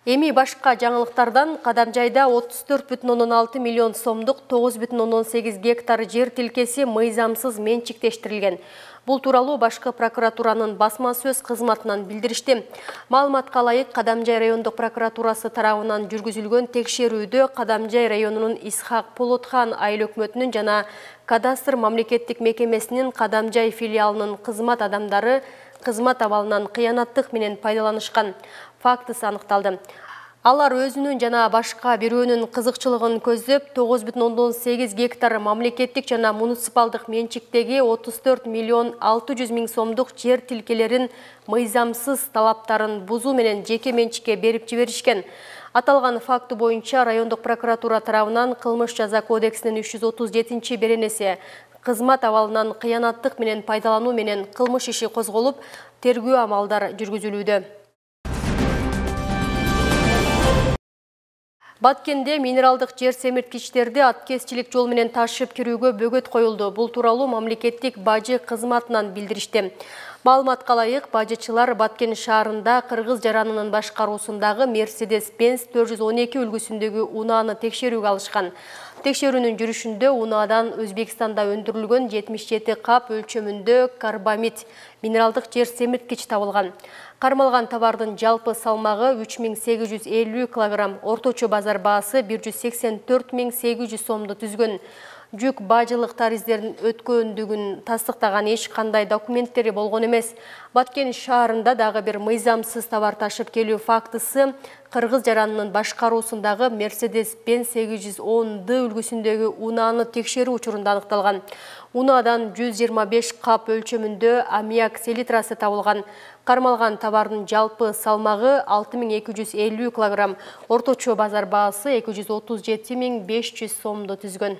Эми башка жаңылыктардан Кадамжайда 34,6 миллион сомдук 9,8 гектар жер тилкеси мыйзамсыз менчиктештирилген. Бул тууралуу башкы прокуратуранын басма сөз кызматынан билдиришти. Маалыматка ылайык, Кадамжай райондук прокуратурасы тарабынан жүргүзүлгөн текшерүүдө Кадамжай районунун Исхак Полотхан айыл өкмөтүнүн жана кадастр мамлекеттик мекемесинин Кадамжай филиалынын кызмат адамдары кызмат абалынан кыянаттык менен пайдаланышкан фактысы аныкталды. Алар өзүнүн жана башка бирөөнүн кызыкчылыгын көздөп 9,8 гектар мамлекеттик жана муниципалдык менчиктеги 34 миллион 600 миң сомдук жер тилкелерин мыйзамсыз талаптарын бузуу менен жеке менчикке берип жиберишкен. Аталган факты боюнча райондук прокуратура тарабынан кылмыш жаза кодексинин 337-беренеси кызмат абалынан кыянаттык менен пайдалануу менен кылмыш иши козголуп, тергөө амалдар жүргүзүлүүдө. Баткенде минералдык жер семирткичтерди аткезчилик жол менен ташып кирүүгө бөгөт коюлду. Бул тууралуу мамлекеттик бажы кызматынан билдиришти. Маалыматка ылайык, бажычылар Баткен шаарында Кыргыз жаранынын башкаруусундагы Mercedes-Benz 412 үлгүсүндөгү унааны текшерүүгө алышкан. Текшерүүнүн жүрүшүндө унаадан Өзбекстанда өндүрүлгөн 77 кап өлчөмүндө карбамид минералдык жер семирткич табылган. Кармалган товардын жалпы салмагы 3850 килограмм, орточо базар баасы 184.800 сомду түзгөн. Жүк бажылык тариздерин өткөндүгүн тастыктаган эч кандай документтери болгон эмес. Баткен шаарында дагы бир мыйзамсыз товар ташып келүү фактысы Кыргыз жаранынын башкаруусундагы Mercedes-Benz 810D үлгүсүндөгү унааны текшерүү учурунда аныкталган. Унаадан 125 кап өлчөмүндө аммиак селитрасы табылган. Кармалган товардын жалпы салмагы 6250 килограмм, орточо базар баасы 237.500 сомду түзгөн.